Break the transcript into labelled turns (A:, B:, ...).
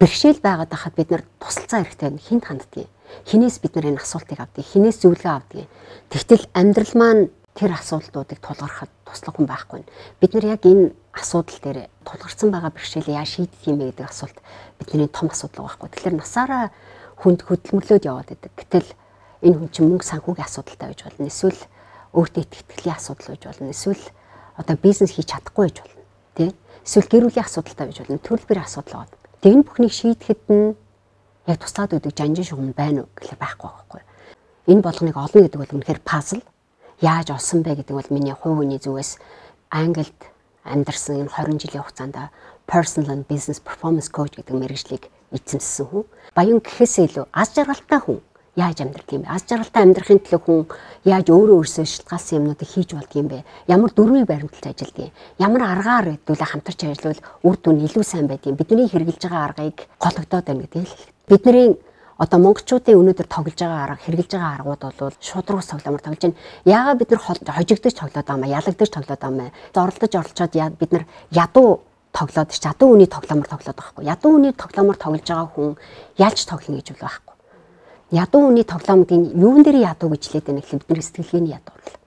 A: бэрхшээл байгаад байхад бид нар тусалцаа хэрэгтэй хинт ханддаг. Хинээс бид нар энэ асуултыг авдаг, хинээс зөвлөгөө авдаг. Тэгтэл амьдрал маань тэр асуудлуудыг тулгархад туслах хүн байхгүй. Бид нар яг энэ асуудал дээр тулгарсан байгаа бэрхшээлээ яаж шийдэх юм бэ гэдэг асуулт бидний том асуудал байхгүй. Тэгэхээр насаараа хүнд хөдөлмөрлөөд яваад байдаг. Гэтэл энэ хүн чинь мөнгө санхүүгийн асуудалтай байж болно. Эсвэл өөртөө итгэлийн асуудал байж болно. Эсвэл одоо бизнес хийж чадахгүй байж болно. Тэ? Эсвэл гэр бүлийн асуудалтай байж болно. Төрөл бүрийн асуудал байгаа. Тэг энэ бүхнийг шийдэхэд нь яг туслаад өгдөг жанжин шугам байна уу гэхэл байхгүй байхгүй. Энэ болгоныг олно гэдэг бол үнэхээр пазл. Яаж олсон бэ гэдэг бол миний хувь хүний зүгээс Англид амьдарсан энэ 20 жилийн хугацаанд personal and business performance coach гэдэг мэргэжлийг эзэмссэн хүн. Баян гэхээсээ илүү аз жаргалтай хүн яаж амьдрах юм бэ? Аз жаргалтай амьдрахын төлөө хүн яаж өөрөөсөө шалтгаалсан юмнуудыг хийж болдго юм бэ? Ямар дүрмийг баримталж ажилладаг юм? Ямар аргаар хэдүүлээ хамтарч ажиллавал үр дүн илүү сайн байдгийг бидний хэрэгжилж байгаа аргыг гологдоод байна гэдэг л. Бидний одоо монголчуудын өнөөдөр тоглож байгаа арга, хэрэгжилж байгаа аргууд бол шудраг ус тоглоомор тоглож байна. Яагаад бид нар хожигдож тоглоод байгаа юм, ялагдаж тоглоод байгаа юм? Зорлож оролцоод бид нар ядуу тоглоод ядуу үний тоглоомор тоглоод байгаа хгүй. Ядуу үний тоглоомор тоглож байгаа хүн ялж тоглоно гэж бол байхгүй. Ядуу үний тоглоомдын юун дээр ядуу гэж хэлээд байна гэхэл бидний сэтгэлгээний ядуу л.